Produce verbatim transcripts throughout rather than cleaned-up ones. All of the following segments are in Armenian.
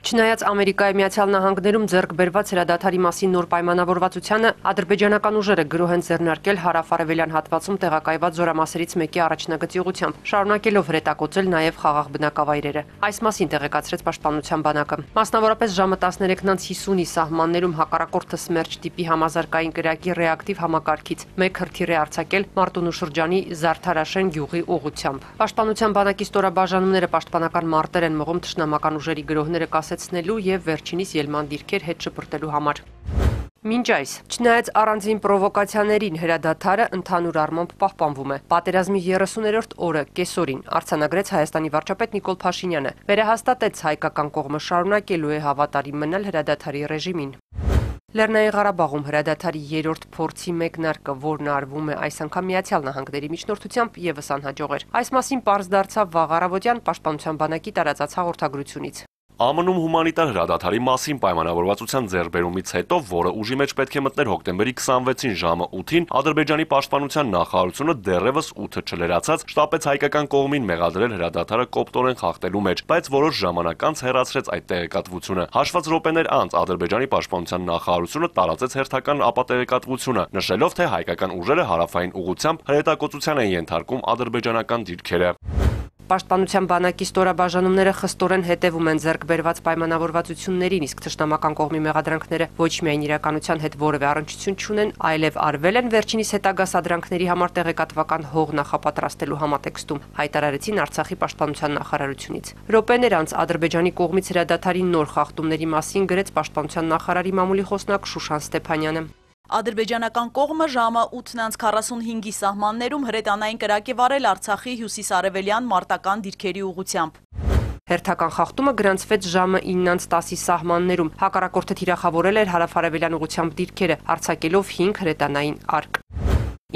Չնայած Ամերիկայի Միացյալ Նահանգներում ձեռք բերված հրադադարի մասին նոր պայմանավորվածությանը, ադրբեջանական ուժերը գրոհ են ձեռնարկել հարավ-արևելյան հատվածում տեղակայված զորամասերից մեկի առաջնագծի ուղղությամբ, շարունակելով հրետակոծել նաև խաղաղ բնակավայրերը։ Այս մասին տեղեկացրեց Պաշտպանության բանակը։ Մասնավորապես ժամը տասներեքից հիսունի սահմաններում հակառակորդը Սմերջ տիպի համազարգային կրակի ռեակտիվ համակարգից մեկ հրթիռ է արձակել Մարտունու շրջանի Զարդարաշեն գյուղի ուղղությամբ։ Պաշտպանության բանակի ստորաբաժանումները պաշտպանական մարտեր են մղում թշնամական ուժերի գրոհները կասեցնելու եւ վերջինիս ելման դիրքեր հետ շպրտելու համար։ Մինչ այս, չնայած առանձին պրովոկացիաներին հրադադարը ընդհանուր առմամբ պահպանվում է։ Պատերազմի երեսուներորդ օրը կեսօրին արձանագրեց Հայաստանի վարչապետ Նիկոլ Փաշինյանը, վերահաստատեց հայկական կողմը շարունակելու է հավատարիմ մնալ հրադադարի ռեժիմին։ Լեռնային Ղարաբաղում հրադադարի երրորդ փորձի մեկնարկը, որն արվում է այս անգամ Միացյալ Նահանգների միջնորդությամբ, եւս անհաջող էր։ Այս մասին պարզ դարձավ վաղ առավոտյան Պաշտպանության բանակի տարածած հաղորդագրությունից։ ԱՄՆ-ում հումանիտար հրադադարի մասին պայմանավորվածության ձեռքբերումից հետո, որը ուժի մեջ պետք է մտներ հոկտեմբերի քսանվեցին ժամը ութին, Ադրբեջանի պաշտպանության նախարարությունը դեռևս ութը չլրացած շտապեց հայկական կողմին մեղադրել հրադադարը կոպտորեն խախտելու մեջ, բայց որոշ ժամանակ անց հեռացրեց այդ տեղեկատվությունը։ Հաշված րոպեներ անց Ադրբեջանի պաշտպանության նախարարությունը տարածեց հերթական ապատեղեկատվությունը, նշելով, թե հայկական ուժերը հարավային ուղղությամբ հրետակոծության են ենթարկում ադրբեջանական դիրքերը։ Պաշտպանության բանակի ստորաբաժանումները խստորեն հետևում են ձեռք բերված պայմանավորվածություններին, իսկ թշնամական կողմի մեղադրանքները ոչ միայն իրականության հետ որևէ առնչություն չունեն, այլև արվել են վերջինիս հետագա սադրանքների համար տեղեկատվական հող նախապատրաստելու համատեքստում, հայտարարեցին Արցախի պաշտպանության նախարարությունից։ Րոպեներ անց Ադրբեջանի կողմից հրադադարի նոր խախտումների մասին գրեց պաշտպանության նախարարի մամուլի խոսնակ Շուշան Ստեփանյանը։ Ադրբեջանական կողմը ժամը ութն անց քառասունհինգի սահմաններում հրետանային կրակ է վարել Արցախի հյուսիսարևելյան մարտական դիրքերի ուղղությամբ։ Հերթական խախտումը գրանցվեց ժամը ինն անց տասի սահմաններում։ Հակառակորդը թիրախավորել էր հարավ-արևելյան ուղղությամբ դիրքերը, արձակելով հինգ հրետանային արկ։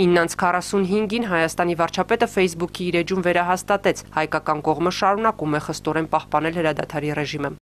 ինն անց քառասունհինգին Հայաստանի վարչապետը Facebook-ի իր էջում վերահաստատեց, հայկական կողմը շարունակում է խստորեն պահպանել հրադադարի ռեժիմը։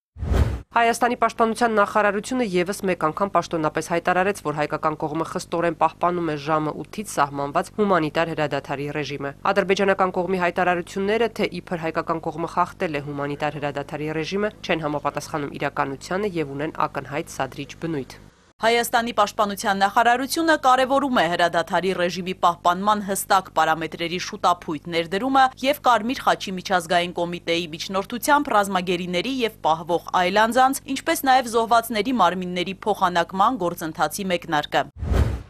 Հայաստանի պաշտպանության նախարարությունը եւս մեկ անգամ պաշտոնապես հայտարարեց, որ հայկական կողմը խստորեն պահպանում է ժամը ութից սահմանված հումանիտար հրադադարի ռեժիմը։ Ադրբեջանական կողմի հայտարարությունները, թե իբր հայկական կողմը խախտել է հումանիտար հրադադարի ռեժիմը, չեն համապատասխանում իրականությանը եւ ունեն ակնհայտ սադրիչ բնույթ։ Հայաստանի պաշտպանության նախարարությունը կարևորում է հրադադարի ռեժիմի պահպանման հստակ պարամետրերի շուտափույթ ներդրումը եւ Կարմիր խաչի միջազգային կոմիտեի միջնորդությամբ ռազմագերիների եւ պահվող այլ անձանց, ինչպես նաեւ զոհվածների մարմինների փոխանակման գործընթացի մեկնարկը։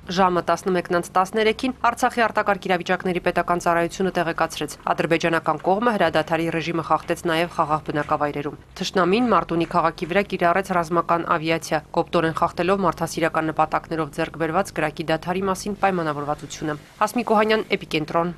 Ժամը տասնմեկն անց տասներեքին Արցախի արտակարգ իրավիճակների պետական ծառայությունը տեղեկացրեց, ադրբեջանական կողմը հրադադարի ռեժիմը խախտեց նաև խաղաղ բնակավայրերում։ Թշնամին Մարտունի քաղաքի վրա կիրառեց ռազմական ավիացիա, կոպտորեն խախտելով մարդասիրական նպատակներով ձեռք բերված կրակի դադարի մասին պայմանավորվածությունը։ Հասմիկ Օհանյան, Էպիկենտրոն։